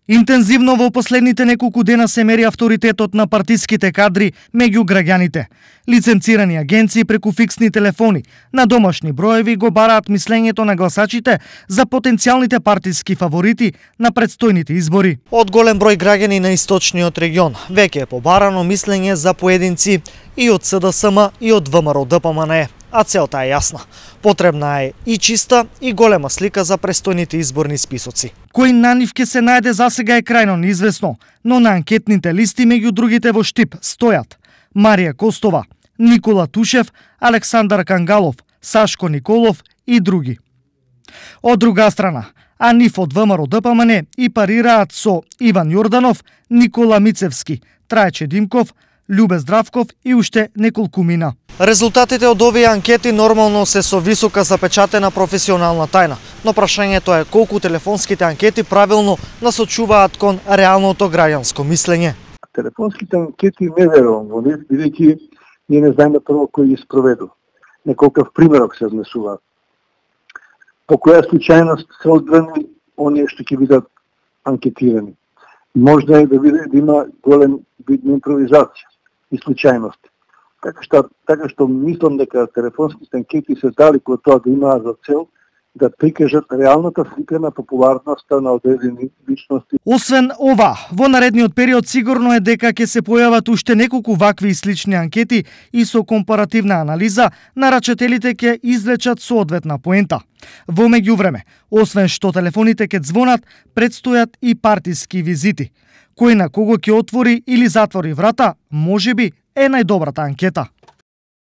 Интензивно во последните неколку дена се мери авторитетот на партиските кадри меѓу граѓаните. Лиценцирани агенции преку фиксни телефони на домашни броеви го бараат мислењето на гласачите за потенцијалните партиски фаворити на предстојните избори. Од голем број граѓани на источниот регион веќе е побарано мислење за поединци и од СДСМ и од ВМРО-ДПМНЕ. А целта е јасна. Потребна е и чиста и голема слика за престојните изборни списоци. Кој на нив ќе се најде засега е крајно неизвестно, но на анкетните листи меѓу другите во штип стојат Марија Костова, Никола Тушев, Александар Кангалов, Сашко Николов и други. Од друга страна, а нив од ВМРО-ДПМНЕ и парираат со Иван Јорданов, Никола Мицевски, Трајче Димков, Љубе Здравков и уште неколкумина. Резултатите од овие анкети нормално се со висока запечатена професионална тајна, но прашањето е колку телефонските анкети правилно насочуваат кон реалното граѓанско мислење. Телефонските анкети не верувам во нив, бидејќи ние не знаеме прво кој ги спроведу. Неколкав примерок се внесува. По која случајност се одбрани оние што ќе бидат анкетирани. Можда е да има голем вид на импровизација и случајност. Така што мислам дека телефонските анкети се дали кога тоа да имаат за цел да прикажат реалната слика на популарноста на одредени личности. Освен ова, во наредниот период сигурно е дека ќе се појават уште неколку вакви и слични анкети и со компаративна анализа нарачателите ќе извлечат соодветна поента. Во меѓувреме, освен што телефоните ќе звонат, предстојат и партиски визити. Кој на кого ќе отвори или затвори врата, можеби е најдобрата анкета.